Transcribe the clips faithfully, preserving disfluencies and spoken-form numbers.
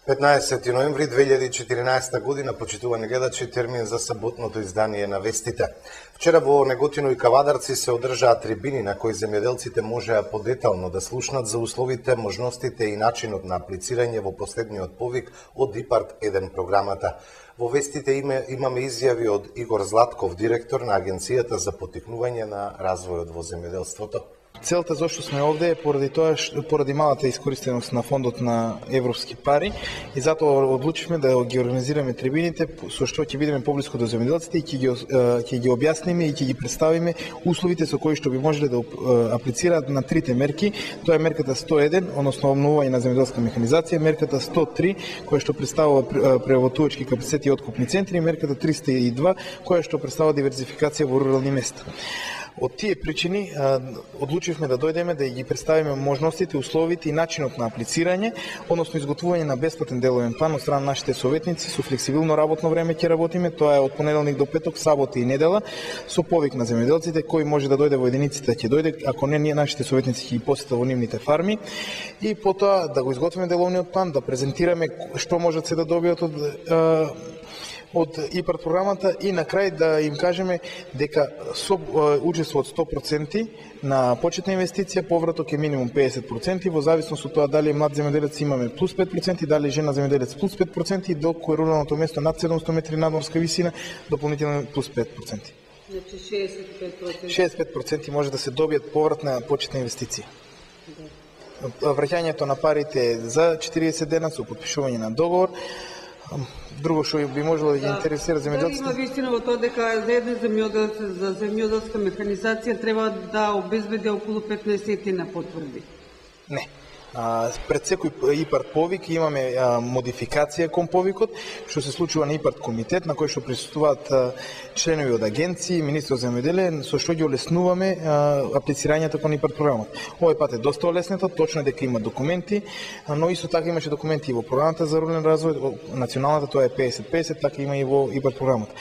петнаесети ноември две илјади и четиринаесета година, почитувани гледачи, термин за саботното издание на вестите. Вчера во Неготино и Кавадарци се одржаа трибини на кои земјоделците можеа подетално да слушнат за условите, можностите и начинот на аплицирање во последниот повик од ИПАРД еден програмата. Во вестите име, имаме изјави од Игор Златков, директор на Агенцијата за поттикнување на развојот во земјоделството. Целта зашто сме овде е поради тоа што поради малата искористеност на фондот на европски пари и затоа одлучивме да ги организираме трибините со што ќе бидеме поблиску до земјоделците и ќе ги ќе ги објасниме и ќе ги представиме условите со кои што би можеле да аплицираат на трите мерки. Тоа е мерката сто еден, односно обновување на земјоделска механизација, мерката сто три, која што представува преработувачки капацитети и откупни центри, и мерката триста и два, која што представува диверзификација во рурални места. Од тие причини одлучивме да дојдеме да ги представиме можностите, условите и начинот на аплицирање, односно изготвување на бесплатен деловен план од страна на нашите советници. Со флексибилно работно време ќе работиме, тоа е од понеделник до петок, сабота и недела, со повик на земјоделците, кој може да дојде во единиците ќе дојде, ако не, ние нашите советници ќе ги посетат во нивните фарми, и потоа да го изготвиме деловниот план, да презентираме што можат се да добијат од од ИПАРД програмата и на крај да им кажеме дека со учество од сто проценти на почетна инвестиција, повраток е минимум педесет проценти, во зависност од тоа дали е млад земјоделец имаме плюс пет проценти, дали е жена земјоделец плюс пет проценти, док кој е руралното место над седумсто метри надморска висина, дополнително плюс пет проценти. Значи шеесет и пет проценти. шеесет и пет проценти може да се добијат повратна почетна инвестиција. Враќањето на парите за четириесет дена со подпишување на договор. Друго што би можело да ги интересира земјоделците. Има вистина во тоа дека за еден земјоделец за земјоделска механизација треба да обезбеди околу петнаесет на потврди. Не. А, пред секој ИПАРД повик имаме а, модификација кон повикот, што се случува на ИПАРД комитет, на кој што присуствуваат а, членови од агенции, министер за земјоделие, со што ги олеснуваме а, аплицирањето кон ИПАРД програмата. Овој пат е доста олеснето, точно дека има документи, а, но исто така имаше документи и во програмата за рурален развој, националната тоа е педесет педесет, така има и во ИПАРД програмата.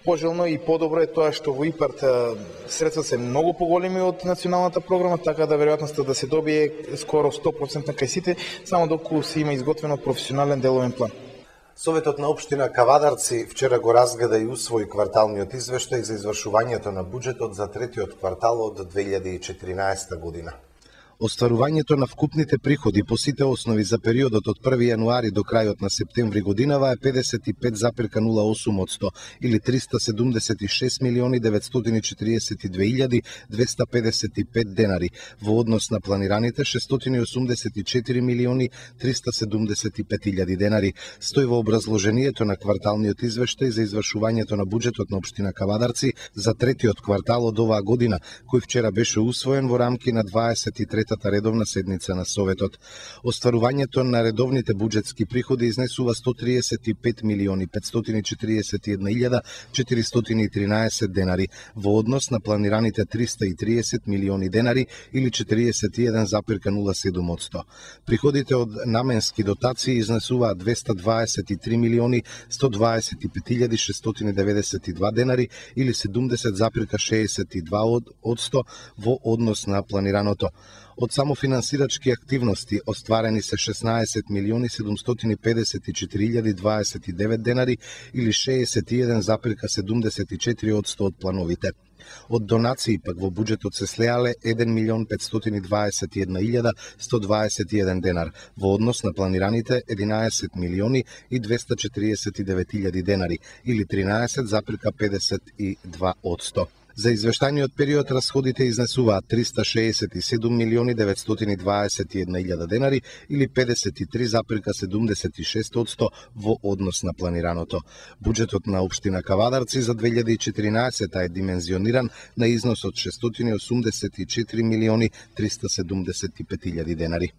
Пожелно и подобро е тоа што во ИПАРД средства се многу поголеми од националната програма, така да веројатноста да се добие скоро сто проценти на кај сите, само доколку се има изготвено професионален деловен план. Советот на општина Кавадарци вчера го разгледа и усвои кварталниот извештај за извршувањето на буџетот за третиот квартал од две илјади и четиринаесета година. Остварувањето на вкупните приходи по сите основи за периодот од први јануари до крајот на септември годинава е педесет и пет запирка нула осум одсто или триста седумдесет и шест милиони деветстотини четириесет и две илјади двеста педесет и пет денари во однос на планираните шестстотини и осумдесет и четири милиони триста седумдесет и пет илјади денари. Стои во образложението на кварталниот извештај за извршувањето на буџетот на општина Кавадарци за третиот квартал од оваа година, кој вчера беше усвоен во рамки на дваесет и трета редовна седница на Советот. Остварувањето на редовните буџетски приходи изнесува сто триесет и пет милиони петстотини и четириесет и една илјада четиристотини и тринаесет денари во однос на планираните триста и триесет милиони денари или четириесет и еден запирка нула седум одсто. Приходите од наменски дотации изнесуваат двеста дваесет и три милиони сто дваесет и пет илјади шестстотини деветдесет и два денари или седумдесет запирка шеесет и два одсто во однос на планираното. Од самофинансирачки активности остварени се шеснаесет милиони седумстотини педесет и четири илјади дваесет и девет денари или шеесет и еден запирка седумдесет и четири одсто од плановите. Од донации пак во буџетот се слеале еден милион петстотини дваесет и една илјада сто дваесет и еден денар во однос на планираните единаесет милиони и двеста четириесет и девет илјади денари или тринаесет запирка педесет и два одсто. За извештаниот период расходите изнесуваат триста шеесет и седум милиони деветстотини дваесет и една илјада денари или педесет и три запирка седумдесет и шест одсто во однос на планираното. Буџетот на општина Кавадарци за две илјади и четиринаесета е димензиониран на износ од шестстотини и осумдесет и четири милиони триста седумдесет и пет илјади денари.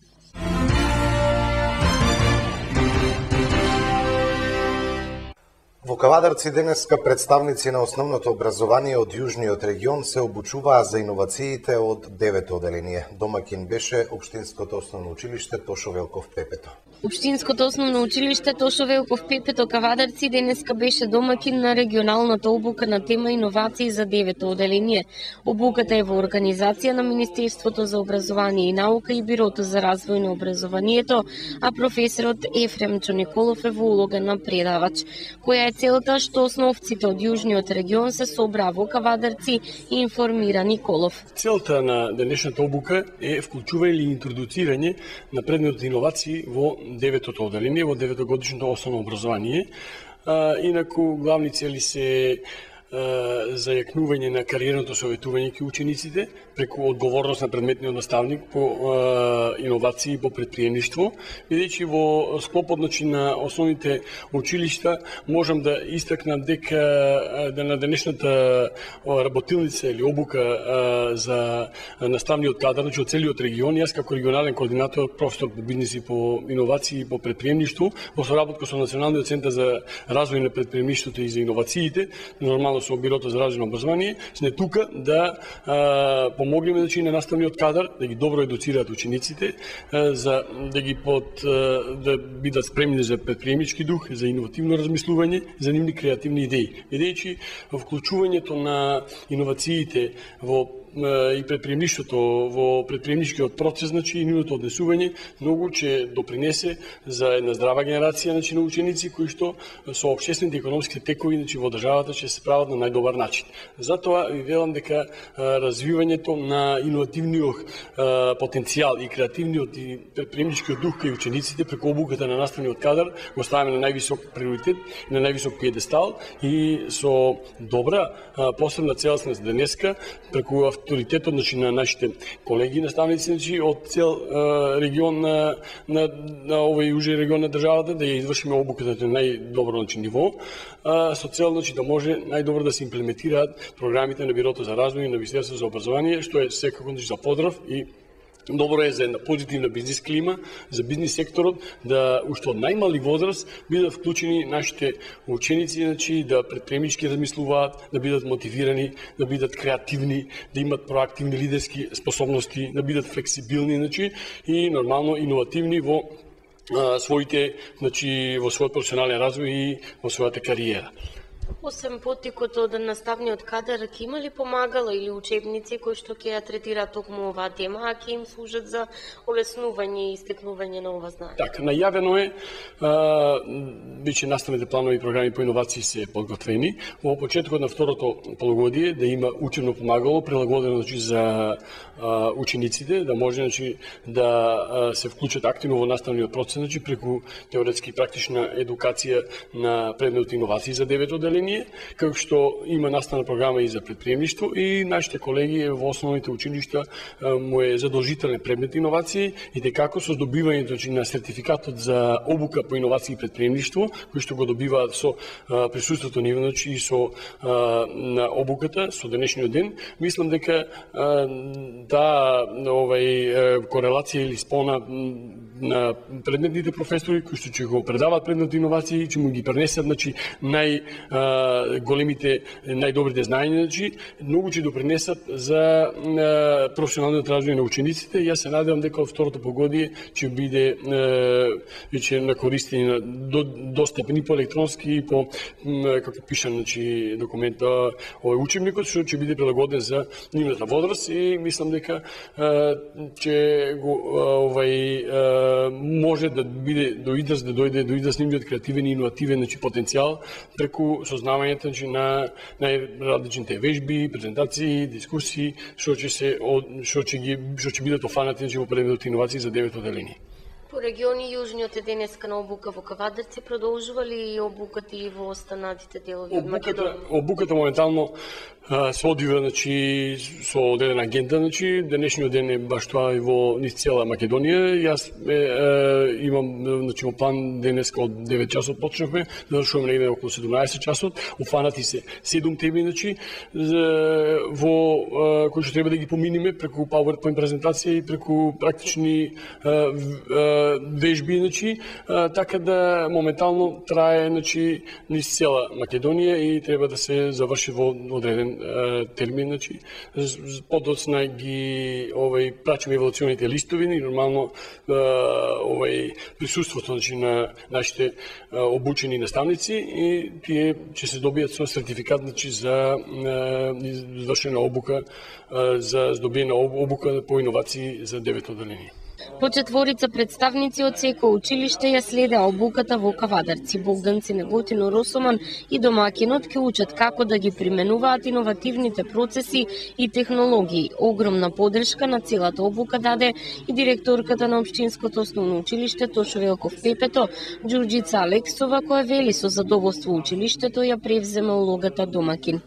Во Кавадарци денеска представници на основното образование од јужниот регион се обучуваа за иновациите од девето оделение. Домаќин беше Општинското основно училиште Тошо Велков Пепето. Општинското основно училиште Тошо Велков Пепето Кавадарци денеска беше домакин на регионалната обука на тема иновации за девето оделение. Обуката е во организација на Министерството за образование и наука и Бирото за развој на образованието, а професорот Ефремчо Николов е во улога на предавач. Која е целта што основците од јужниот регион се собра во Кавадарци и информира Николов. Целта на денешната обука е вклучување или интродуцирање на предметот иновации во деветото оделение, во деветогодишното основно образование. А, инаку главни цели се зајакнување на кариерното советување кај учениците преку одговорност на предметниот наставник по е, иновации по предприемништво, бидејќи во склопот значи, на основните училишта можам да истакнам дека да на денешната работилница или обука е, за наставниот кадар значи, од целиот регион, јас како регионален координатор, професор по бизнис и по иновации и по предприемништво, во соработка со Националниот центар за развој на предприемништвото и за иновациите, нормално со Бирото за развој на образование, сме тука да а, помогнеме значи, на наставниот кадар, да ги добро едуцираат учениците, а, за да ги под а, да бидат спремни за предприемнички дух, за иновативно размислување, за нивни креативни идеи. Бидејќи вклучувањето на иновациите во и предприемништвото во предприемничкиот процес, значи и нивното однесување многу ќе допринесе за една здрава генерација значи на ученици кои што со општествените економски текови значи во државата ќе се справат на најдобар начин. Затоа ви велам дека развивањето на иновативниот потенцијал и креативниот и предприемничкиот дух кај учениците преку обуката на наставниот кадар го ставаме на највисок приоритет и на највисок пиедестал и со добра посебна целосност денеска преку авторитетот значи, на нашите колеги наставници значи, од цел е, регион на, на, на овој јужен регион на државата да ја извршиме обуката на најдобро значи, ниво, а, со цел значи, да може најдобро да се имплементираат програмите на Бирото за развој и на Министерството за образование, што е секако значи, за поздрав и добро е за една позитивна бизнис клима, за бизнис секторот, да уште од најмали возраст бидат вклучени нашите ученици, значи, да предприемнички размислуваат, да бидат мотивирани, да бидат креативни, да имат проактивни лидерски способности, да бидат флексибилни, значи, и нормално иновативни во а, своите, значи, во својот професионален развој и во својата кариера. Освен поттикот од наставниот кадар, ќе има ли помагала или учебници кои што ќе ја третираат токму оваа тема, а ќе им служат за олеснување и стекнување на ова знаење? Така, најавено е, а, биче наставните планови и програми по иновации се подготвени. Во почетокот на второто полугодие да има учебно помагало, прилагодено значи, за а, учениците, да може значи, да а, се вклучат активно во наставниот процес, значи, преку теоретски и практична едукација на предметот иновации за девето оделение, како што има наставна програма и за предприемништво и нашите колеги во основните училишта му е задолжителен предмет иновации и дека со добивањето на сертификатот за обука по иновации и предприемништво, кој што го добиваат со присуството нивно и со на обуката со денешниот ден, мислам дека таа овај корелација или спона на предметните професори кои што ќе го предаваат предмет иновации, ќе му ги пренесат значи нај големите, најдобрите знаења, значи, многу ќе допринесат за професионалниот развој на учениците. Јас се надевам дека од второто погодие ќе биде веќе на користење до, достапни по електронски и по како пишан значи документа овој учебникот што ќе биде прилагоден за нивната возраст и мислам дека ќе го овај може да биде до израз да дојде до израз нивниот креативен и иновативен значи потенцијал преку сознавањето значи, на најразличните вежби, презентации, дискусии, што ќе се што ќе ги што ќе бидат офанати значи, во предметот иновации за девето оделение. По региони јужниот е денеска на обука во Кавадарци, продолжува ли обуката и во останатите делови од Македонија? Обуката моментално се одвива значи со одредена агенда, значи денешниот ден е баш тоа и во низ цела Македонија. Јас е, е, имам значи во план денеска од девет часот почнавме, завршуваме негде околу седумнаесет часот. Офанати се седум теми значи во кои што треба да ги поминиме преку PowerPoint презентација и преку практични вежби, значи, така да моментално трае значи низ цела Македонија и треба да се заврши во одреден термин, значи подоцна ги овој прачиме еволуционите листови и нормално овој присуството, значи, на нашите обучени наставници и тие ќе се добијат со сертификат, значи, за извршена обука, за здобиена обука по иновации за девето оделение. По четворица представници од секој училиште ја следеа обуката во Кавадарци. Богдан Цинеготино Росоман и домакинот ќе учат како да ги применуваат иновативните процеси и технологии. Огромна подршка на целата обука даде и директорката на Општинското основно училиште Тошо Велков Пепето, Ѓурџица Алексова, која вели со задоволство училиштето ја превзема улогата домакин.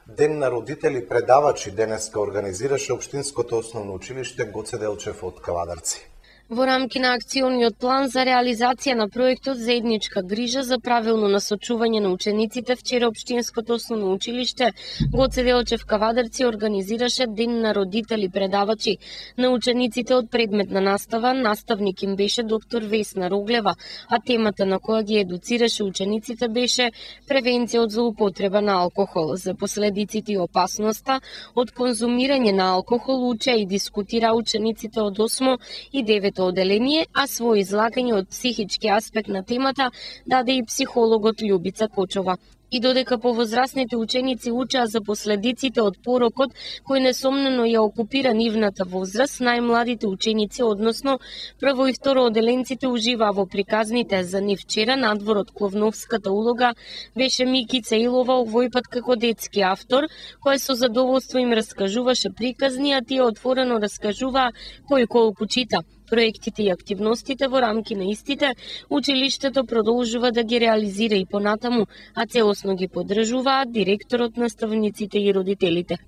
Ден на родители предавачи денеска организираше Општинското основно училиште Гоце Делчев од Кавадарци. Во рамки на акциониот план за реализација на проектот Заедничка грижа за правилно насочување на учениците, вчера Општинското основно училиште Гоце Делчев Кавадарци организираше Ден на родители предавачи на учениците од предметна настава. Наставник им беше доктор Весна Роглева, а темата на која ги едуцираше учениците беше превенција од злоупотреба на алкохол. За последиците и опасноста од конзумирање на алкохол учеа и дискутира учениците од осмо и девето оделение, а свој излагање од психички аспект на темата даде и психологот Љубица Кочова. И додека повозрастните ученици учеа за последиците од порокот кој несомнено ја окупира нивната возраст, најмладите ученици, односно прво и второ оделенците, уживаа во приказните. За нив вчера надвор од кловновската улога беше Микица Илова, овој пат како детски автор, кој со задоволство им раскажуваше приказни, а тие отворено раскажуваа кој колку чита. Проектите и активностите во рамки на истите, училиштето продолжува да ги реализира и понатаму, а целосно ги поддржуваат директорот, наставниците и родителите.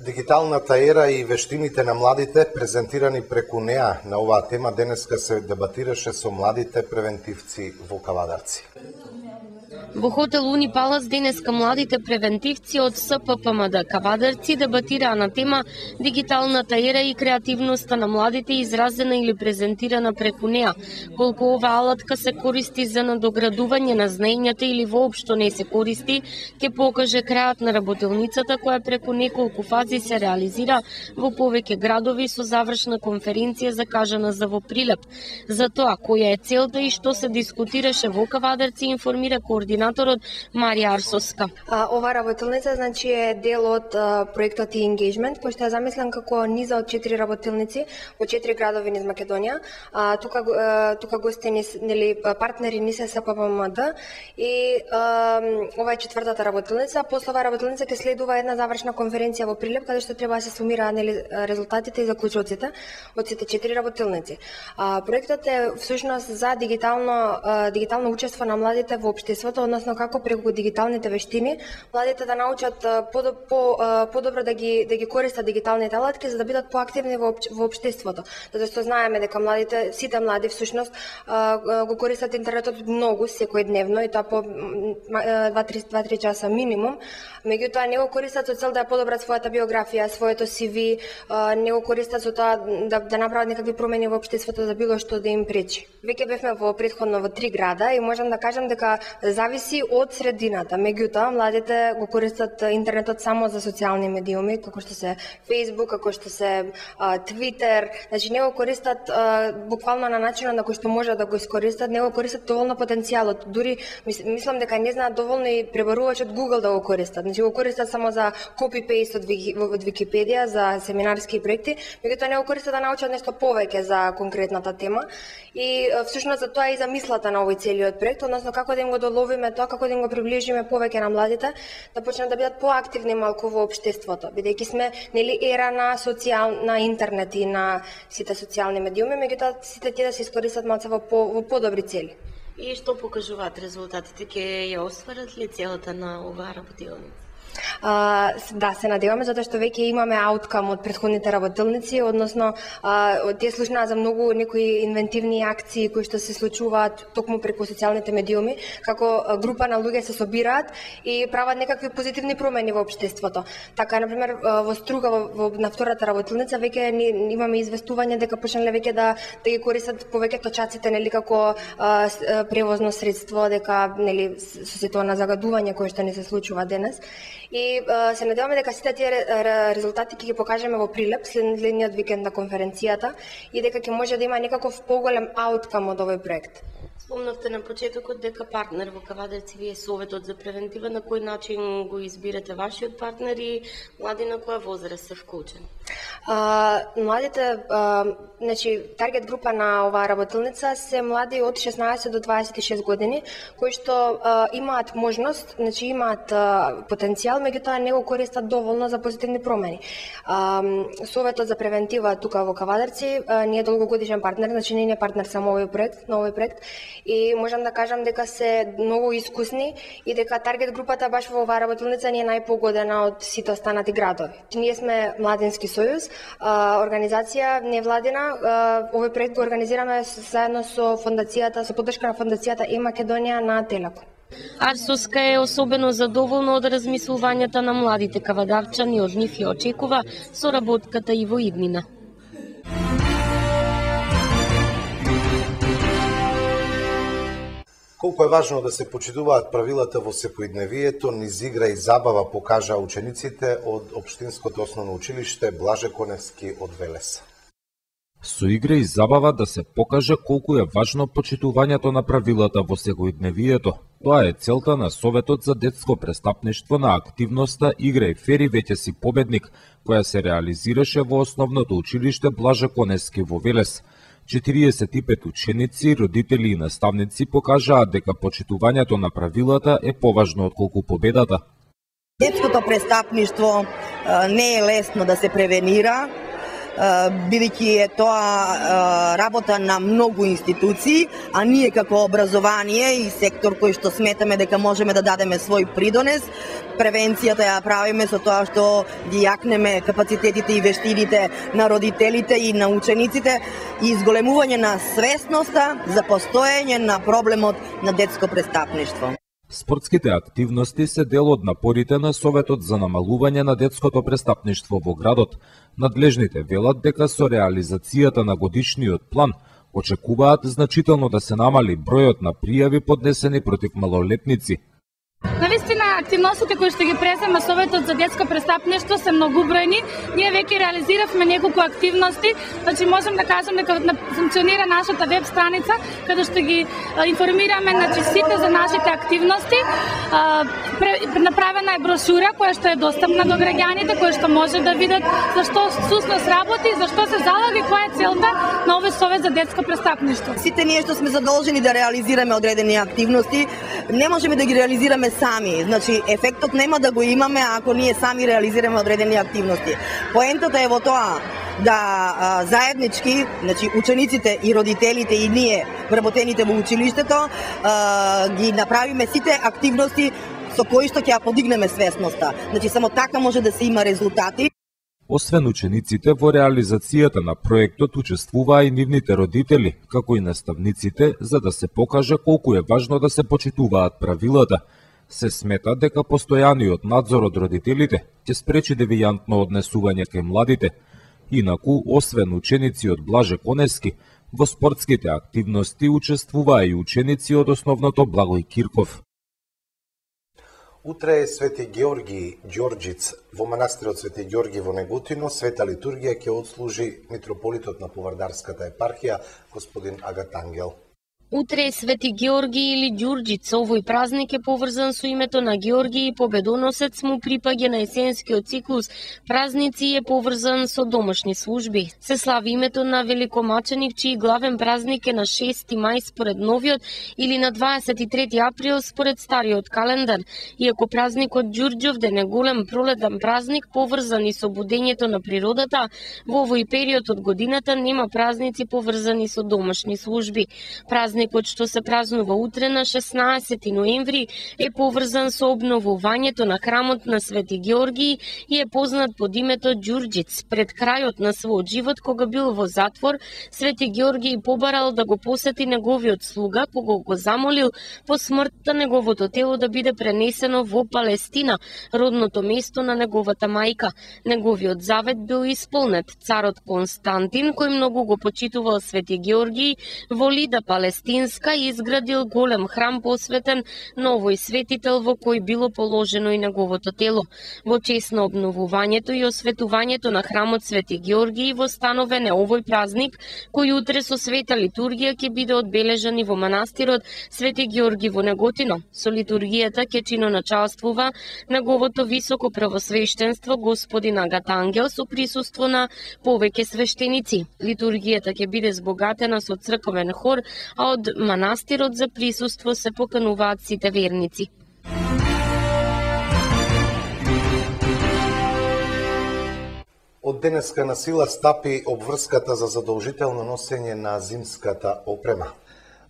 Дигиталната ера и вештините на младите, презентирани преку неа, на оваа тема денеска се дебатираше со младите превентивци во Кавадарци. Во хотел Уни Палас денеска младите превентивци од С П П М Д Кавадарци дебатираа на тема дигиталната ера и креативноста на младите, изразена или презентирана преку неа. Колку оваа алатка се користи за надоградување на знаењата или воопшто не се користи, ќе покаже крајот на работилницата која преку неколку фази се реализира во повеќе градови со завршна конференција закажана за во Прилеп. За тоа која е целта и што се дискутираше во Кавадарци информира координаторот Марија Арсовска. А, ова работилница, значи, е дел од а, проектот и Engagement, кој што е замислен како низа од четири работилници во четири градови низ Македонија. А, тука а, тука гостени нели партнери ни се С П П М Д и а, ова е четвртата работилница. После оваа работилница ќе следува една завршна конференција во Прилеп каде што треба да се сумираат нели резултатите и заклучоците од сите четири работилници. А, проектот е всушност за дигитално а, дигитално учество на младите во општеството, односно како преку дигиталните вештини младите да научат по, по, подобро да ги да ги користат дигиталните алатки за да бидат поактивни во во општеството. Затоа што знаеме дека младите, сите млади всушност го користат интернетот многу секојдневно и тоа по два до три часа минимум. Меѓутоа не го користат со цел да ја подобрат својата биографија, своето Си Ви, не го користат со тоа да да направат некакви промени во општеството за било што да им пречи. Веќе бевме во претходно во три града и можам да кажам дека зависи од средината. Меѓутоа, младите го користат интернетот само за социјални медиуми, како што се Facebook, како што се а, Twitter. Значи, не го користат а, буквално на начинот на кој што може да го искористат, не го користат доволно потенцијалот. Дури мис, мислам дека не знаат доволно и пребарувач од Google да го користат. Значи, го користат само за copy-paste од, од Википедија, за семинарски проекти, меѓутоа не го користат да научат нешто повеќе за конкретната тема. И всушност за тоа и замислата на овој целиот проект, односно како да им го доловиме тоа, како да им го приближиме повеќе на младите, да почнат да бидат поактивни малку во општеството, бидејќи сме нели ера на социјал на интернет и на сите социјални медиуми, меѓутоа сите тие да се искористат малку во по, во подобри цели. И што покажуваат резултатите? Ќе ја остварат ли целата на оваа работилница? А, да, се надеваме, затоа што веќе имаме ауткам од претходните работилници, односно а, тие слушнаа за многу некои инвентивни акции кои што се случуваат токму преку социјалните медиуми, како група на луѓе се собираат и прават некакви позитивни промени во општеството. Така, например, во Струга, во, во, на втората работилница, веќе ни, имаме известување дека почнале веќе да, да ги користат повеќе точаците, нели, како а, превозно средство, дека, нели, со сето на загадување кое што не се случува денес. И И се надеваме дека сите тие резултати ќе ги покажеме во прилеп следниот викенд на конференцијата и дека ќе може да има некаков поголем ауткам од овој проект. Спомнавте на почетокот дека партнер во Кавадарци ви е Советот за превентива. На кој начин го избирате вашиот партнер и млади на која возраст се вклучени? А, младите, а, значи, таргет група на оваа работилница се млади од шеснаесет до дваесет и шест години, кои што а, имаат можност, значи имаат а, потенцијал, меѓутоа не го користат доволно за позитивни промени. А, Советот за превентива тука во Кавадарци а, не е долгогодишен партнер, значи не е партнер само овој проект, на овој проект, и можам да кажам дека се многу искусни и дека таргет групата баш во оваа работилница не е најпогодена од сите останати градови. Ние сме Младински сојуз, организација невладина. Овој проект го организираме заедно со фондацијата, со поддршка на фондацијата Е Македонија на Телеком. Арсоска е особено задоволна од размислувањата на младите кавадарчани, од нив ја очекува соработката и во иднина. Колку е важно да се почитуваат правилата во секојдневието, низ игра и забава покажаа учениците од Општинското основно училиште Блаже Коневски од Велес. Со игра и забава да се покаже колку е важно почитувањето на правилата во секојдневието. Тоа е целта на Советот за детско престапништво на активноста Игра и фери веќе си победник, која се реализираше во основното училиште Блаже Коневски во Велес. четириесет и пет ученици, родители и наставници покажаат дека почитувањето на правилата е поважно отколку победата. Детското престапништво не е лесно да се превенира, бидејќи е тоа работа на многу институции, а ние како образование и сектор кој што сметаме дека можеме да дадеме свој придонес, превенцијата ја правиме со тоа што ги јакнеме капацитетите и вештините на родителите и на учениците и изголемување на свесноста за постоење на проблемот на детско престапништво. Спортските активности се дел од напорите на Советот за намалување на детското престапништво во градот. Надлежните велат дека со реализацијата на годишниот план очекуваат значително да се намали бројот на пријави поднесени против малолетници. Навистина, активностите кои што ги презема Советот за детско престапништво се многубројни. Ние веќе реализиравме неколку активности, значи можам да кажам дека функционира нашата веб страница, каде што ги информираме значи сите за нашите активности. Направена е брошура која што е достапна до граѓаните, која што може да видат зашто СУСНОС работи, зашто се залага и која е целта на овој Совет за детско престапништво. Сите ние што сме задолжени да реализираме одредени активности, не можеме да ги реализираме сами. Значи, ефектот нема да го имаме ако ние сами реализираме одредени активности. Поентата е во тоа да а, заеднички, значи учениците и родителите и ние, вработените во училиштето, а, ги направиме сите активности со кои што ќе ја подигнеме свесноста. Значи, само така може да се има резултати. Освен учениците, во реализацијата на проектот учествуваа и нивните родители, како и наставниците, за да се покаже колку е важно да се почитуваат правилата. Се смета дека постојаниот надзор од родителите ќе спречи девијантно однесување кај младите. Инаку, освен ученици од Блаже Коневски, во спортските активности учествуваа и ученици од основното Благој Кирков. Утре е Свети Георги Ѓорѓиц во манастирот Свети Ѓорги во Неготино. Света литургија ќе отслужи митрополитот на Повардарската епархија, господин Агат Ангел. Утре е Свети Георги или Ѓурџиц. Овој празник е поврзан со името на Георги и победоносец, му припаѓа на есенскиот циклус празници и е поврзан со домашни служби. Се слави името на великомаченик, чиј главен празник е на шести мај според новиот или на дваесет и трети април според стариот календар. Иако празникот Ѓурѓовден е голем пролетен празник поврзан и со будењето на природата, во овој период од годината нема празници поврзани со домашни служби. Празник Празникот што се празнува утре на шеснаесети ноември е поврзан со обновувањето на храмот на Свети Георги и е познат под името Ѓурџиц. Пред крајот на својот живот, кога бил во затвор, Свети Георги побарал да го посети неговиот слуга, кога го замолил по смртта неговото тело да биде пренесено во Палестина, родното место на неговата мајка. Неговиот завет бил исполнет. Царот Константин, кој многу го почитувал Свети Георги, воли да Палестина Стинска изградил голем храм посветен на овој светител во кој било положено и неговото тело. Во чест на обновувањето и осветувањето на храмот Свети Георгиј востановен е овој празник, кој утре со света литургија ќе биде одбележан и во манастирот Свети Георги во Неготино. Со литургијата ќе чиноначалствува неговото високо превосвештенство господин Агат Ангел со присуство на повеќе свештеници. Литургијата ќе биде збогатена со црковен хор, а од манастирот за присуство се покануваат сите верници. Од денеска на сила стапи обврската за задолжително носење на зимската опрема.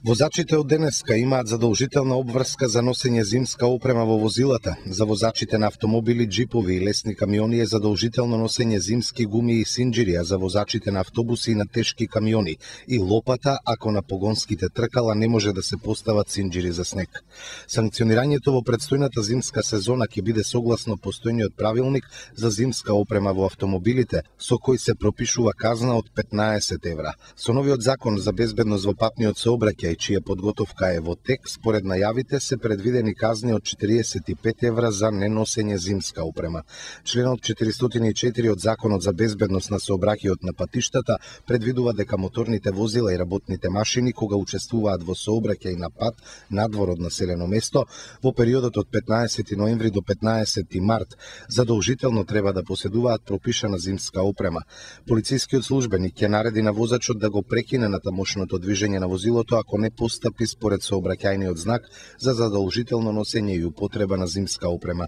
Возачите од денеска имаат задолжителна обврска за носење зимска опрема во возилата. За возачите на автомобили, джипови и лесни камиони е задолжително носење зимски гуми и синџири, а за возачите на автобуси и на тешки камиони и лопата ако на погонските тркала не може да се постават синџири за снег. Санкционирањето во предстојната зимска сезона ќе биде согласно постојниот правилник за зимска опрема во автомобилите, со кој се пропишува казна од петнаесет евра. Со новиот закон за безбедност во патниот сообраќај, чија подготовка е во тек, според најавите се предвидени казни од четириесет и пет евра за неносење зимска опрема. Членот четиристотини и четири од Законот за безбедност на сообраќајот на патиштата предвидува дека моторните возила и работните машини кога учествуваат во сообраќај на пат надвор од населено место во периодот од петнаесети ноември до петнаесети март задолжително треба да поседуваат пропишана зимска опрема. Полицискиот службеник ќе нареди на возачот да го прекине натамошното движење на возилото ако не постапи според сообраќајниот знак за задолжително носење и употреба на зимска опрема.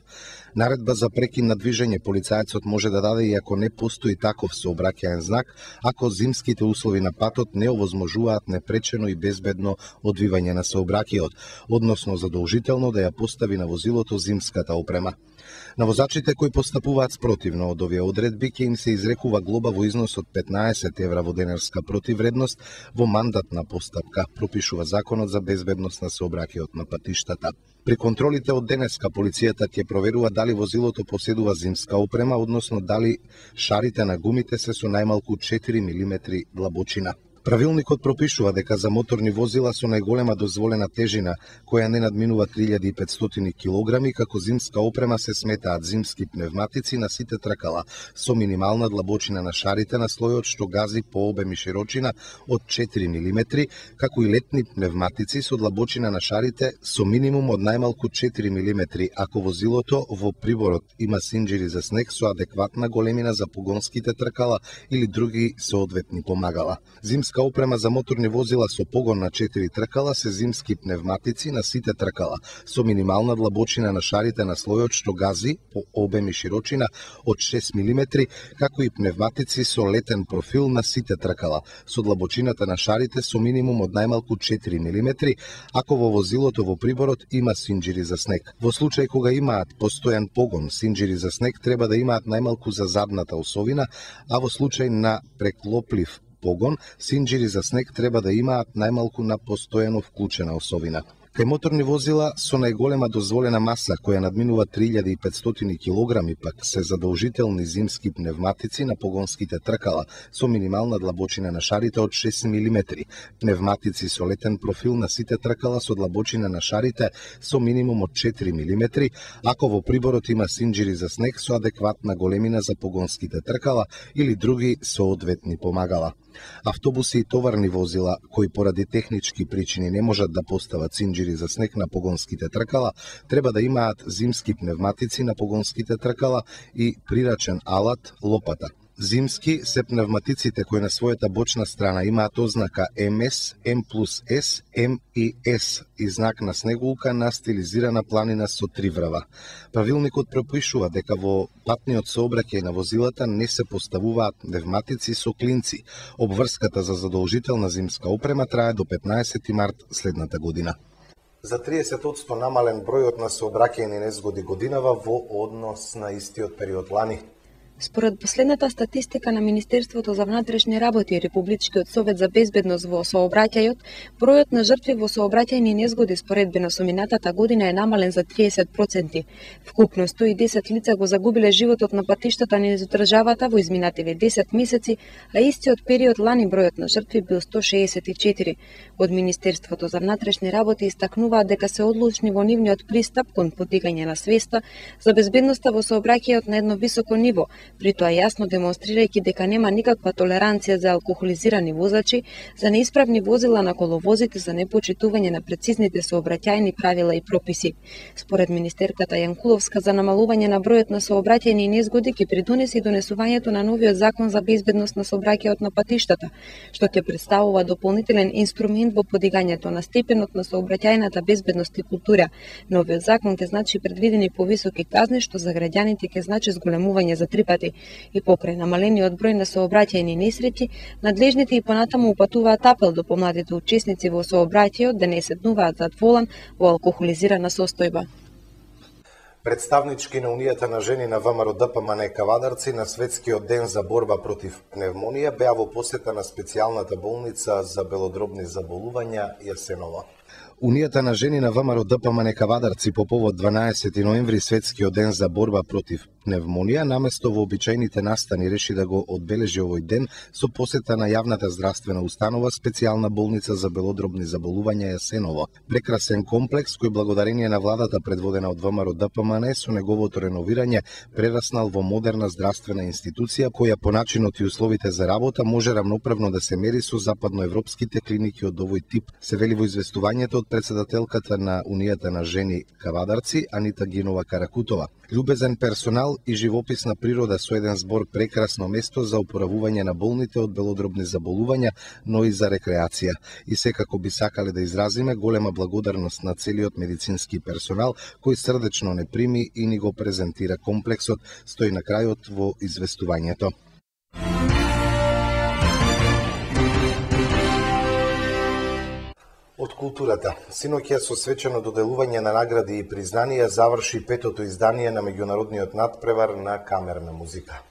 Наредба за прекин на движење полицајецот може да даде и ако не постои таков сообраќајен знак, ако зимските услови на патот не овозможуваат непречено и безбедно одвивање на сообраќајот, односно задолжително да ја постави на возилото зимската опрема. На возачите кои постапуваат спротивно од овие одредби ќе им се изрекува глоба во износ од петнаесет евра во денарска противредност во мандатна постапка, пропишува Законот за безбедност на сообраќајот на патиштата. При контролите од денеска полицијата ќе проверува дали возилото поседува зимска опрема, односно дали шарите на гумите се со најмалку четири милиметри длабочина. Правилникот пропишува дека за моторни возила со најголема дозволена тежина, која не надминува три илјади и петстотини килограми, како зимска опрема се сметаат зимски пневматици на сите тркала со минимална длабочина на шарите на слојот што гази по обем и широчина од четири милиметри, како и летни пневматици со длабочина на шарите со минимум од најмалку четири милиметри, ако возилото во приборот има синџири за снег со адекватна големина за погонските тркала или други соодветни помагала. Зимска опрема за моторни возила со погон на четири тркала се зимски пневматици на сите тркала со минимална длабочина на шарите на слојот што гази по обем и широчина од шест милиметри, како и пневматици со летен профил на сите тркала со длабочината на шарите со минимум од најмалку четири милиметри, ако во возилото во приборот има синџири за снег. Во случај кога имаат постојан погон, синџири за снег треба да имаат најмалку за задната осовина, а во случај на преклоплив погон, синџири за снег треба да имаат најмалку на постојано вклучена осовина. Кај моторни возила со најголема дозволена маса, која надминува три илјади и петстотини килограми, пак се задолжителни зимски пневматици на погонските тркала со минимална длабочина на шарите од шест милиметри, пневматици со летен профил на сите тркала со длабочина на шарите со минимум од четири милиметри, ако во приборот има синџири за снег со адекватна големина за погонските тркала или други соодветни помагала. Автобуси и товарни возила, кои поради технички причини не можат да постават синџири за снег на погонските тркала, треба да имаат зимски пневматици на погонските тркала и прирачен алат лопата. Зимски се пневматиците кои на својата бочна страна имаат ознака М С, М плюс С, М и С и знак на снегулка на стилизирана планина со три врва. Правилникот пропишува дека во патниот сообраќај на возилата не се поставуваат пневматици со клинци. Обврската за задолжителна зимска опрема трае до петнаесети март следната година. За триесет одсто намален бројот на сообраќајни незгоди годинава во однос на истиот период лани. Според последната статистика на Министерството за внатрешни работи и Републичкиот совет за безбедност во сообраќајот, бројот на жртви во сообраќајни незгоди споредбено со минатата година е намален за триесет проценти. Вкупно сто и десет лица го загубиле животот на патиштата низ државата во изминативе десет месеци, а истиот период лани бројот на жртви бил сто шеесет и четири. Од Министерството за внатрешни работи истакнуваат дека се одлучни во нивниот пристап кон подигање на свеста за безбедноста во сообраќајот на едно високо ниво, при тоа јасно демонстрирајќи дека нема никаква толеранција за алкохолизирани возачи, за неисправни возила на коловозите, за непочитување на прецизните сообраќајни правила и прописи. Според министерката Јанкуловска, за намалување на бројот на сообраќајни незгоди ќе придонесе и донесувањето на новиот закон за безбедност на сообраќајот на патиштата, што ќе представува дополнителен инструмент во подигањето на степенот на сообраќајната безбедност и култура. Новиот закон ќе значи предвидени повисоки казни, што за граѓаните ќе значи зголемување за три пати. И покрај намалениот број на сообраќајни несреќи, надлежните и понатаму упатуваат апел до помладите учесници во сообраќајот да не седнуваат зад волан во алкохолизирана состојба. Представнички на Унијата на жени на ВМРО ДПМН Кавадарци на Светскиот ден за борба против пневмонија беа во посета на специјалната болница за белодробни заболувања Јасенова. Унијата на жени на ВМРО ДПМН Кавадарци по повод дванаесети ноември Светскиот ден за борба против пневмонија, наместо во обичајните настани реши да го одбележи овој ден со посета на јавната здравствена установа специјална болница за белодробни заболувања Јасеново. Прекрасен комплекс кој благодарение на владата предводена од ВМРО ДПМН со неговото реновирање прераснал во модерна здравствена институција која по начинот и условите за работа може рамноправно да се мери со западноевропските клиники од овој тип, се вели во известувањето од председателката на Унијата на жени Кавадарци Анита Гинова Каракутова. Љубезен персонал и живописна природа со еден збор прекрасно место за опоравување на болните од белодробни заболувања, но и за рекреација. И секако би сакале да изразиме голема благодарност на целиот медицински персонал кој срдечно не прими и ни го презентира комплексот, стои на крајот во известувањето. Од културата. Синоќа со свечено доделување на награди и признанија заврши петото издание на меѓународниот натпревар на камерна музика.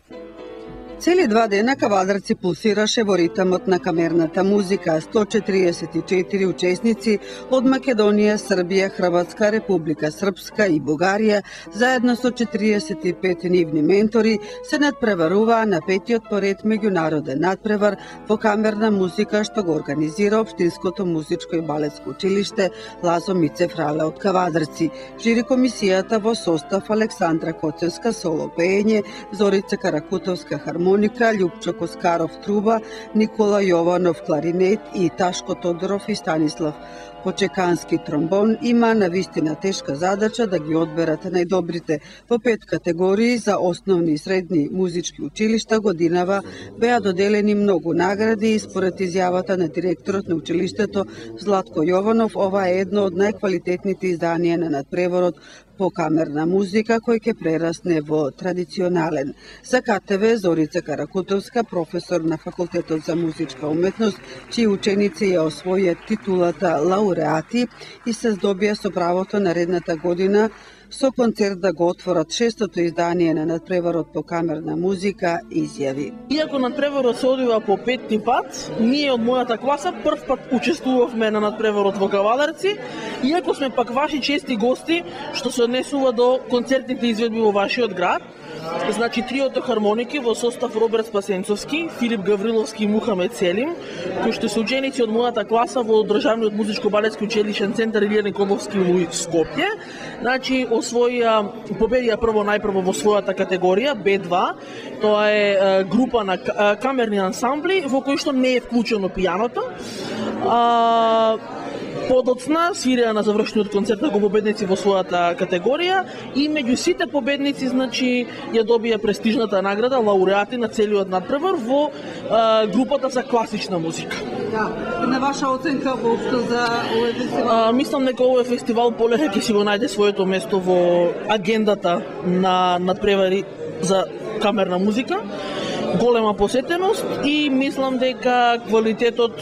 Цели два дена Кавадарци пулсираше во ритмот на камерната музика. сто четириесет и четири учесници од Македонија, Србија, Хрватска, Република Српска и Бугарија, заедно со четириесет и пет нивни ментори, се надпреваруваа на петиот поред меѓународен надпревар во камерна музика што го организира Општинското музичко и балетско училиште Лазо Мицев Рале од Кавадарци. Жири комисијата во состав Александра Коцевска соло пеење, Зорица Каракутовска хармонија, Љупчо Коскаров труба, Никола Јованов кларинет и Ташко Тодоров и Станислав Почекански тромбон има навистина тешка задача да ги одберат најдобрите во пет категории за основни и средни музички училишта. Годинава беа доделени многу награди и според изјавата на директорот на училиштето Златко Јованов, ова е едно од најквалитетните изданија на надпреворот по камерна музика кој ќе прерасне во традиционален. За КТВ Зорица Каракутовска, професор на Факултетот за музичка уметност, чии ученици ја освојат титулата лауреати и се здобија со правото наредната година со концерт да го отворат шестото издание на надпреварот по камерна музика, изјави. Иако надпреварот се одива по петти пат, ние од мојата класа прв пат учествувавме на надпреварот во Кавадарци, иако сме пак ваши чести гости што се однесува до концертните изведби во вашиот град. Значи триото хармоники во состав Роберт Спасенцовски, Филип Гавриловски и Мухамед Селим, кои што се ученици од мојата класа во Државниот музичко-балетски училишен центар Илија Николовски во Скопје. Значи освоија победија прво најпрво во својата категорија Б два. Тоа е група на камерни ансамбли во кој што не е вклучено пијаното. А подоцна свиреа на завршниот концерт го победници во својата категорија и меѓу сите победници, значи, ја добија престижната награда лауреати на целиот надпревар во а, групата за класична музика. Да, на ваша оценка воопшто за овој фестивал? А, мислам дека овој фестивал полека ќе си го најде своето место во агендата на надпревари за камерна музика. Голема посетеност и мислам дека квалитетот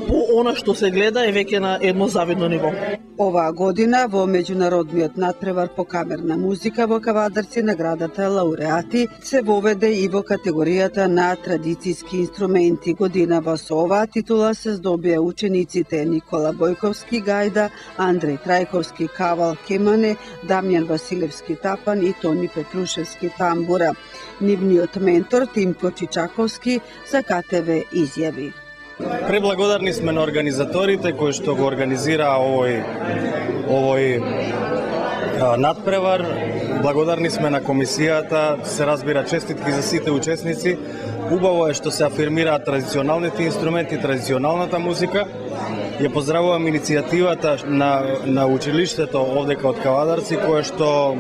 по она што се гледа е веќе на едно завидно ниво. Оваа година во меѓународниот надпревар по камерна музика во Кавадарци наградата лауреати се воведе и во категоријата на традицијски инструменти. Годинава со оваа титула се здобија учениците Никола Бојковски гајда, Андреј Трајковски кавал кемане, Дамјан Василевски тапан и Тони Петрушевски тамбура. Нивниот ментор Тимко Чичаковски за Ка Те Ве изјави: Преблагодарни сме на организаторите кои што го организира овој овој а, надпревар. Благодарни сме на комисијата, се разбира честитки за сите учесници. Убаво е што се афирмираат традиционалните инструменти, традиционалната музика. Ја поздравувам иницијативата на на училиштето овдека од Кавадарци, кое што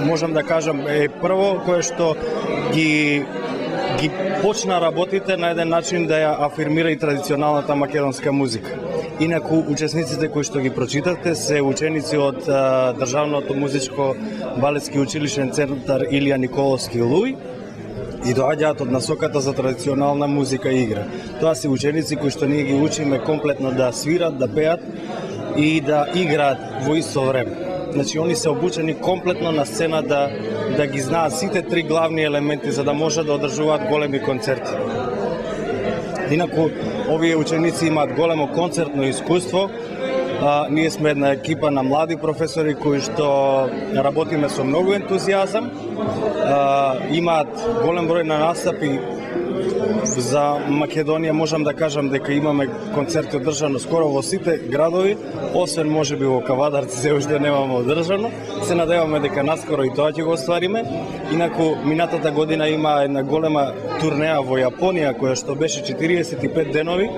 можам да кажам е прво кое што ги ги почна работите на еден начин да ја афирмира и традиционалната македонска музика. Инаку, учесниците кои што ги прочитавте се ученици од а, Државното музичко балетски училишен центар Илија Николовски Луј и доаѓаат од насоката за традиционална музика и игра. Тоа се ученици кои што ние ги учиме комплетно да свират, да пеат и да играат во исто време. Значи, они се обучени комплетно на сцена да, да ги знаат сите три главни елементи за да можат да одржуваат големи концерти. Инаку, овие ученици имаат големо концертно искуство. А, ние сме една екипа на млади професори кои што работиме со многу ентузијазам. А, имаат голем број на настапи за Македонија. Можам да кажам дека имаме концерти одржано скоро во сите градови, освен можеби во Кавадарци се уште немаме одржано. Се надеваме дека наскоро и тоа ќе го оствариме. Инаку минатата година има една голема турнеа во Јапонија која што беше четириесет и пет денови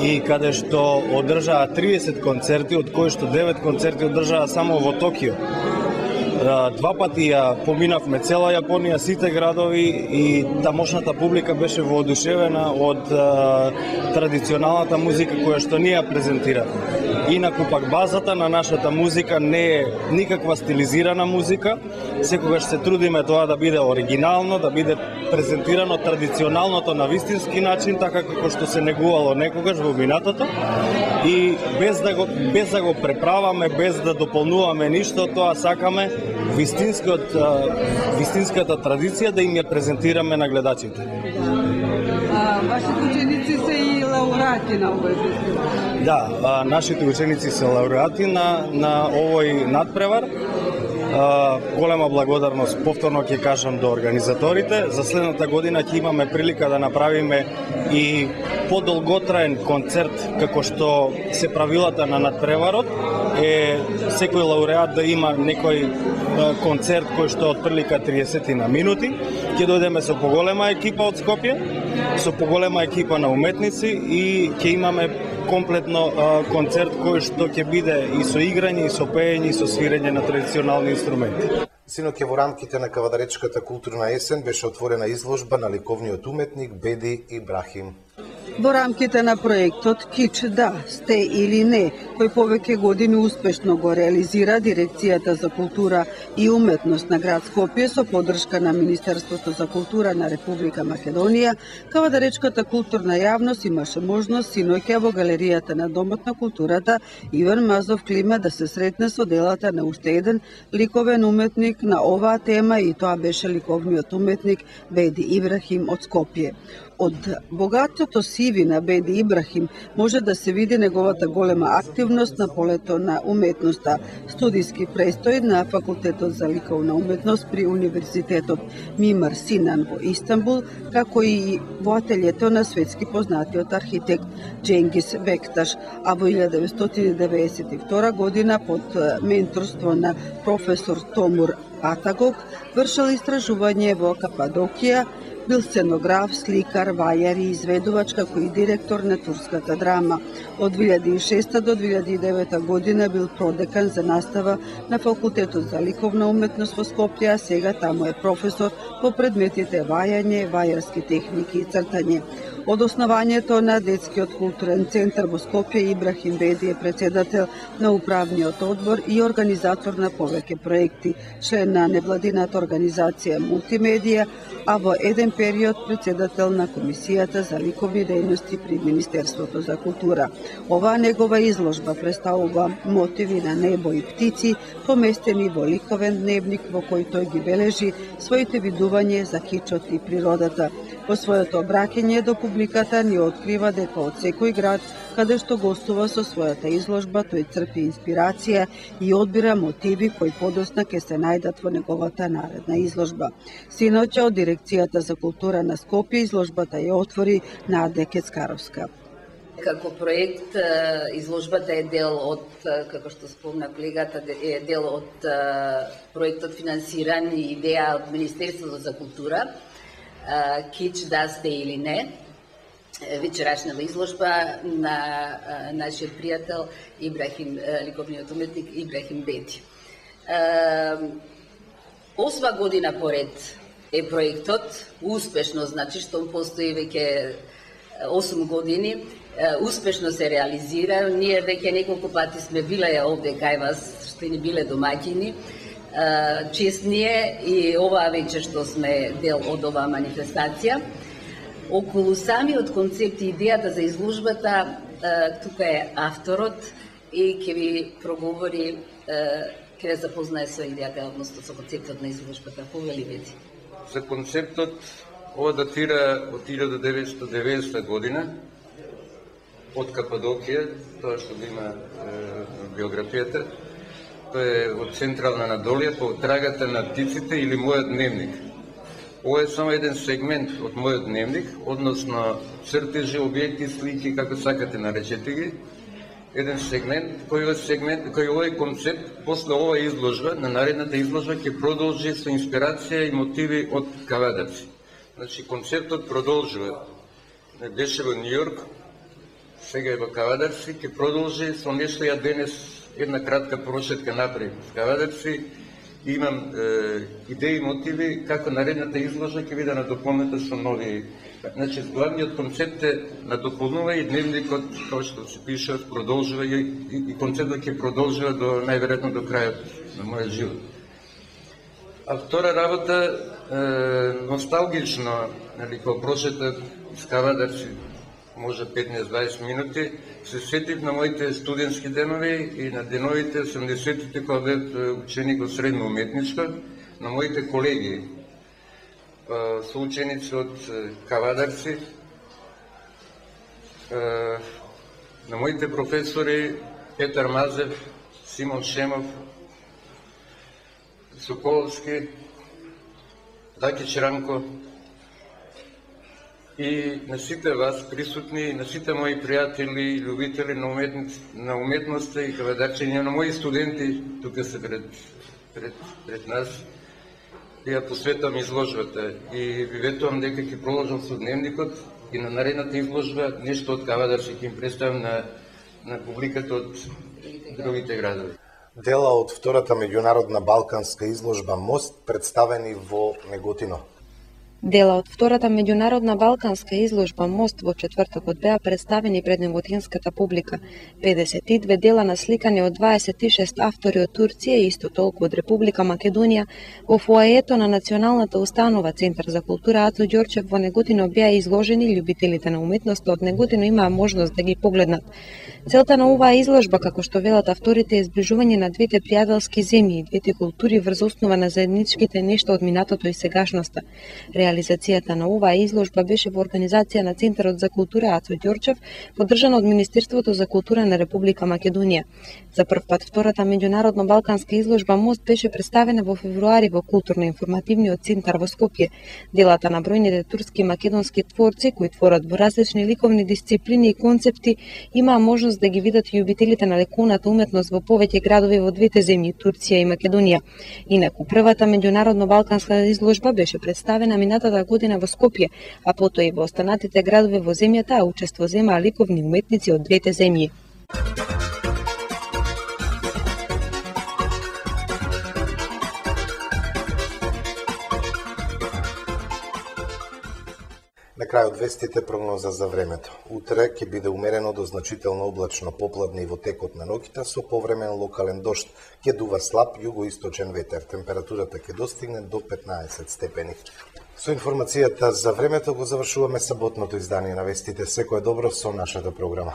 и каде што одржаа триесет концерти, од кои што девет концерти одржаа само во Токио. Два пати ја поминавме цела Јапонија, сите градови и тамошната публика беше воодушевена од а, традиционалната музика која што ние ја презентиравме. Инаку пак базата на нашата музика не е никаква стилизирана музика, секогаш се трудиме тоа да биде оригинално, да биде презентирано традиционалното на вистински начин, така како што се негувало некогаш во минатото и без да го без да го преправаме, без да дополнуваме ништо, тоа сакаме вистинскиот вистинската традиција да им ја презентираме на гледачите. А, вашите ученици се и лауреати на овој фестивал? Да, а, нашите ученици се лауреати на на овој надпревар. Uh, голема благодарност, повторно ќе кажам, до организаторите. За следната година ќе имаме прилика да направиме и подолготраен концерт, како што се правилата на надпреварот е секој лауреат да има некој uh, концерт кој што од прилика триесет на минути. Ќе дојдеме со поголема екипа од Скопје, со поголема екипа на уметници и ќе имаме комплетно а, концерт кој што ќе биде и со играње, и со пеење, и со свирење на традиционални инструменти. Синоќа во рамките на Кавадаречката културна есен беше отворена изложба на ликовниот уметник Беди Ибрахим. Во рамките на проектот Кич да, сте или не, кој повеќе години успешно го реализира Дирекцијата за култура и уметност на град Скопје со поддршка на Министерството за култура на Република Македонија, Кавадаречката културна јавност имаше можност синоќа во галеријата на Домот на културата Иван Мазов Клима да се сретне со делата на уште еден ликовен уметник на оваа тема и тоа беше ликовниот уметник Беди Ибрахим од Скопје. Од богатото сиви на Беди Ибрахим може да се види неговата голема активност на полето на уметноста, студиски престој на Факултетот за ликовна уметност при Универзитетот Мимар Синан во Истанбул, како и во ателјето на светски познатиот архитект Дженгис Бекташ, а во илјада деветстотини деветдесет и втора година под менторство на професор Томур Атагог вршил истражување во Кападокија, бил сценограф, сликар, вајар и изведувач, како и директор на турската драма. Од две илјади и шеста до две илјади и девета година бил продекан за настава на Факултетот за ликовна уметност во Скопје, а сега таму е професор по предметите вајање, вајарски техники и цртање. Од основањето на Детскиот културен центар во Скопје, Ибрахим Беди е председател на управниот одбор и организатор на повеќе проекти, член на невладината организација Мултимедија, а во еден период председател на Комисијата за ликовни дејности при Министерството за култура. Оваа негова изложба представува мотиви на небо и птици, поместени во ликовен дневник во кој тој ги бележи своите видување за кичот и природата. Во своето обраќање до публиката ни открива дека од секој град каде што гостува со својата изложба, тој црпи инспирација и одбира мотиви кои подосна ќе се најдат во неговата наредна изложба. Синоќа од Дирекцијата за култура на Скопје изложбата ја отвори Наде Кецкаровска. Како проект, изложбата е дел од, како што спомна колегата, е дел од проектот финансиран и идеја од Министерството за култура, Кич да сте или не, вечерашната изложба на нашиот пријател Ибрахим, ликовниот уметник Ибрахим Бети. Осма година поред е проектот, успешно, значи што постои веќе осум години, успешно се реализира. Ние веќе неколку пати сме биле овде кај вас, што ни биле домаќини. Честние и оваа вечер што сме дел од оваа манифестација. Околу самиот концепт и идејата за изложбата, тука е авторот и ќе ви проговори, ќе ве запознае со идејата, односно со концептот на изложбата. Повели Бети. За концептот, ова датира од илјада деветстотини и деветдесета година, од Кападокија, тоа што го има биографијата. Тоа е од Централна Анадолија, по трагата на птиците или мојот дневник. Ова е само еден сегмент од мојот дневник, односно цртежи, објекти, слики, како сакате наречете ги. Еден сегмент, кој сегмент, кој овој концепт, после ова изложба, на наредната изложба ќе продолжи со инспирација и мотиви од кавадарци. Значи, концептот продолжува. Беше во Њујорк, сега е во кавадарци, ќе продолжи со нешто ја денес една кратка прошетка напред. Кавадарци, имам е, идеи и мотиви како наредната изложба ќе биде надополнета со нови. Значи, главниот концепт е надополнува и дневникот, како што се пише, продолжува и, и, и концептот ќе продолжува до најверојатно до крајот на мојот живот. А втора работа, е, носталгично, нали, кога прошеток с кавадарци, може петнаесет до дваесет минути, се сетив на моите студентски денови и на деновите осемдесетите кога бев ученик во средно уметничко, на моите колеги, соученици од кавадарци, на моите професори Петар Мазев, Симон Шемов, Соколовски, Даки Чранко, и на сите вас присутни, на сите мои пријатели, љубители на, уметност, на уметноста и кавадарчење, на мои студенти, тука се пред, пред, пред нас, и ја посветам изложбата. И ви ветувам дека ќе продолжам со дневникот и на наредната изложба нешто од кавадарци ќе им представам на, на публиката од другите градови. Дела од втората меѓународна балканска изложба Мост представени во Неготино. Дела од втората меѓународна балканска изложба Мост во четвртокот беа представени пред неготинската публика. педесет и две дела насликани од дваесет и шест автори од Турција и исто толку од Република Македонија во фоаето на Националната установа Центар за култура Ацо Ѓорчев во Неготино беа изложени. Љубителите на уметноста од Неготино имаа можност да ги погледнат. Целта на оваа изложба, како што велат авторите, е зближување на двете пријателски земји и двете култури врз основа на заедничките нешта од минатото и сегашноста. Реализацијата на оваа изложба беше во организација на Центарот за култура Ацо Ѓорчев, поддржана од Министерството за култура на Република Македонија. За прв пат втората меѓународна балканска изложба Мост беше представена во февруари во Културно-информативниот центар во Скопје. Делата на бројните турски и македонски творци кои творат во различни ликовни дисциплини и концепти имаа можност да ги видат и љубителите на ликовната уметност во повеќе градови во двете земји, Турција и Македонија. Инаку првата меѓународна балканска изложба беше представена минатата година во Скопје, а потоа и во останатите градови во земјата, а учество земаа ликовни уметници од двете земји. На крајот вестите прогноза за времето. Утре ќе биде умерено до значително облачно, попладне и во текот на ноќта со повремен локален дожд. Ќе дува слаб југоисточен ветер. Температурата ќе достигне до петнаесет степени. Со информацијата за времето го завршуваме саботното издание на вестите. Секое добро со нашата програма.